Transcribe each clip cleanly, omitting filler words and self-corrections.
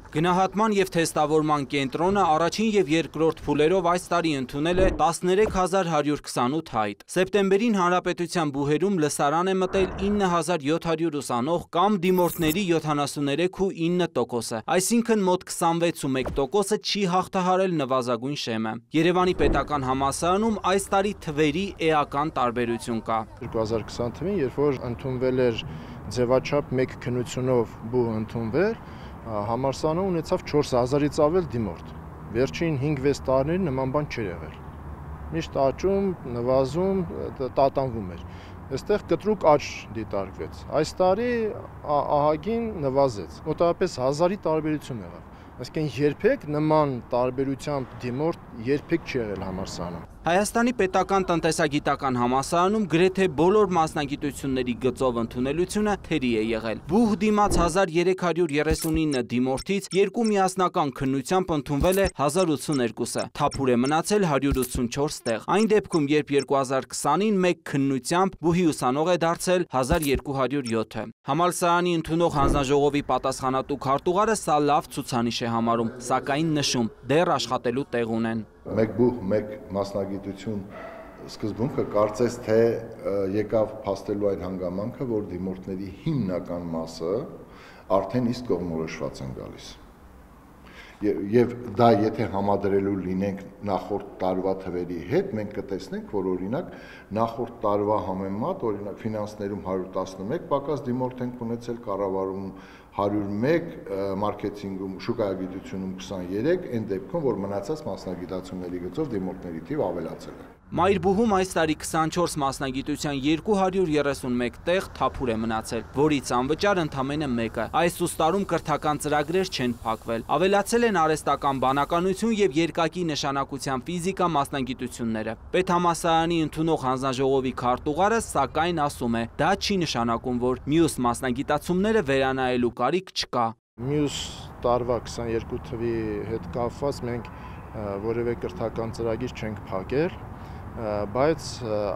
Գնահատման և թեստավորման կենտրոնը առաջին և երկրորդ փուլերով այս տարի ընդունել է 13128 հայտ։ Սեպտեմբերին հանրապետության բուհերում լսարան է մտել 9700 ուսանող կամ դիմորդների 73,9%-ը, այսինքն մոտ 26,1%-ը չի հաղթահարել նվազագույն շեմը։ Երևանի պետական համալսարանում այս տարի թվերի էական տարբերություն կա։ 2020 թվին, երբ որ ընդունվել էր ձևաչափ 1 քննությունով բուհ ընդունվել, համալսարանը ունեցավ 4000-ից ավել դիմորդ։ Վերջին 5-6 տարիներին նման բան չէր եղել։ Միշտ աճում, նվազում, տատանվում էր։ Այստեղ կտրուկ աճ դիտարկվեց։ Այս տարի ահագին նվազեց։ Մոտավորապես 1000-ի տարբերություն եղավ։ Այսինքն երբեք նման տարբերությամբ դիմորդ երբեք չի եղել համալսարանում։ Հայաստանի պետական տնտեսագիտական համալսարանում գրեթե բոլոր մասնագիտությունների գծով ընդունելությունը թերի է եղել։ Բուհ դիմաց 1339 դիմորդից երկու միասնական քննությամբ ընդունվել է 1082-ը, թափուր է մնացել 184 տեղ։ Այն դեպքում, երբ 2020-ին մեկ քննությամբ բուհի ուսանող է դարձել 1207-ը։ Համալսարանի ընդունող հանձնաժողովի պատասխանատու քարտուղարը սա լավ ցուցանիշ է համարում, սակայն նշում՝ դեռ աշխատելու տեղ ունեն։ Մեկ բուհ, մեկ մասնագիտություն սկզբունքը կարծես թե եկավ փաստելու այդ հանգամանքը, որ դիմորդների հիմնական մասը արդեն իսկ կողմնորոշված են գալիս։ Եվ դա եթե համադրելու լինենք նախորդ տարվա թվերի հետ, մենք կտեսնենք, որ օրինակ նախորդ տարվա համեմատ, օրինակ ֆինանսներում 111 պակաս դիմորդ ենք ունեցել, կառավարում 101, մարքեթինգում, շուկայագիտությունում 23, այն դեպքում, որ մնացած մասնագիտությունների գծով դիմորդների թիվ ավելացել է։ Մայրբուհում այս տարի 24 մասնագիտության 231 տեղ թափուր է մնացել, որից անվճար ընդամենը մեկը։ Այս ուստարում կրթական ծրագրեր չեն փակվել։ Ավելացել են արհեստական բանականություն և երկակի նշանակության ֆիզիկա մասնագիտությունները։ Պետհամալսարանի ընդունող հանձնաժողովի քարտուղարը սակայն ասում է, դա չի նշանակում, որ մյուս մասնագիտացումները վերանայելու կարիք չկա։ Մյուս տարվա 22 թվի հետ կապված մենք որևէ կրթական ծրագիր չենք փակել, բայց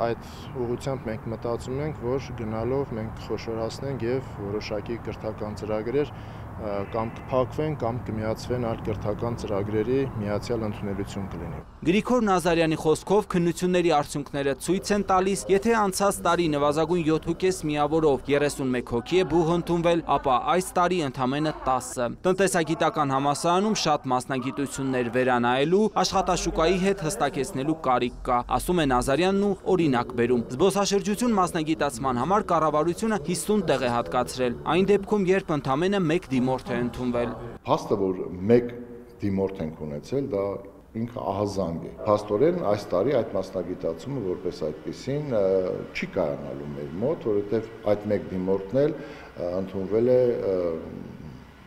այդ ուղղությամբ մենք մտածում ենք, որ գնալով մենք կխոշորացնենք և որոշակի կրթական ծրագրեր կամ կփակվեն, կամ կմիացվեն այլ կրթական ծրագրերի միացյալ ընդունելություն կլինի։ Գրիգոր Նազարյանի խոսքով քննությունների արդյունքները ցույց են տալիս, եթե անցած տարի նվազագույն 7,5 միավորով 31 հոգի է բուհ ընդունվել, ապա այս տարի ընդամենը 10-ը։ Տնտեսագիտական համալսարանում շատ մասնագիտություններ վերանայելու, աշխատաշուկայի հետ հստակեցնելու կարիք կա, ասում է Նազարյանն ու օրինակ բերում։ Զբոսաշրջություն մասնագիտացման համար կառավարությունը 50 տեղ է հատկացրել, այն դեպքում, երբ ընդամենը 1 դիմորդ է ընդունվել։ Փաստը, որ 1 դիմորդ ենք ունեցել, դա ինքը ահազանգ է։ Փաստորեն այս տարի այդ մասնագիտացումը որպես այդպիսին չի կայանալու մեր մոտ, որովհետև այդ 1 դիմորդն էլ ընդունվել է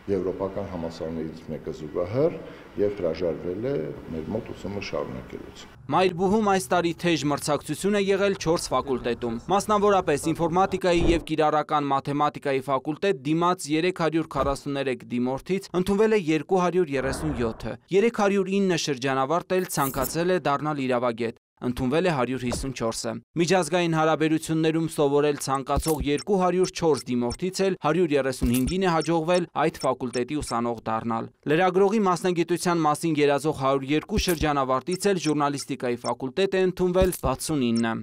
եվրոպական համալսարաններից մեկը զուգահեռ և հրաժարվել է մեր մոտ ուսումը շարունակելուց։ Մայրբուհում այս տարի թեժ մրցակցություն է եղել 4 ֆակուլտետում, մասնավորապես ինֆորմատիկայի և կիրառական մաթեմատիկայի ֆակուլտետ դիմաց 343 դիմորդից ընդունվել է 237-ը, 309 շրջանավարտ էլ ցանկացել է դառնալ իրավագետ, ընդունվել է 154-ը։ Միջազգային հարաբերություններում սովորել ցանկացող 204 դիմորդից էլ 135-ին է հաջողվել այդ ֆակուլտետի ուսանող դառնալ։ Լրագրողի մասնագիտության մասին երազող 102 շրջանավարտից էլ ժուրնալիստիկայի ֆակուլտետ է ընդունվել 69-ը։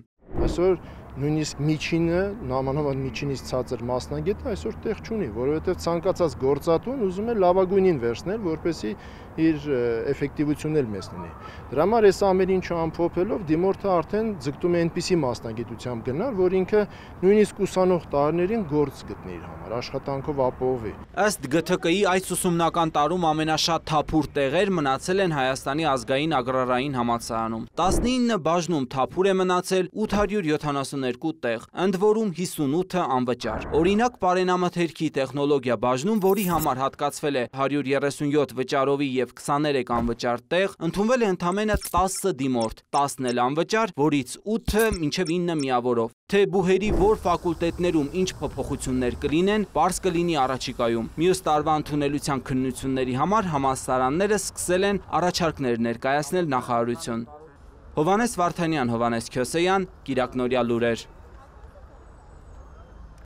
Այսօր նույնիսկ միջինը, նամանավանդ միջինից ցածր մասնագետը այսօր տեղ չունի, որովհետև ցանկացած գործատուն ուզում է լավագույնին վերցնել, որպեսզի իր էֆեկտիվությունն էլ մեծ լինի։ Դրա համար այս ամեն ինչը ամփոփելով դիմորդը արդեն ձգտում է այնպիսի մասնագիտությամբ գնալ, որ ինքը նույնիսկ ուսանող տարիներին գործ գտնի իր համար, աշխատանքով ապահովի։ Ըստ ԳԹԿ-ի այս ուսումնական տարում ամենաշատ թափուր տեղեր մնացել են Հայաստանի ազգային ագրարային համալսարանում։ 19 բաժնում թափուր է մնացել 872 տեղ, ընդ որում 58-ը անվճար։ Օրինակ պարենամթերքի տեխնոլոգիա բաժնում, որի համար հատկացվել է 137 վճարովի և 23 անվճար տեղ, ընդունվել է ընդամենը 10 դիմորդ, 10-ն էլ անվճար, որից 8-ը մինչև 9 միավորով։ Թե բուհերի որ ֆակուլտետներում ինչ փոփոխություններ կլինեն, պարզ կլինի առաջիկայում։ Մյուս տարվա ընդունելության քննությունների համար համալսարանները սկսել են առաջարկներ ներկայացնել նախարարություն։ Հովհաննես Վարդանյան, Հովհաննես Քյոսեյան, Կիրակնորյա լուրեր։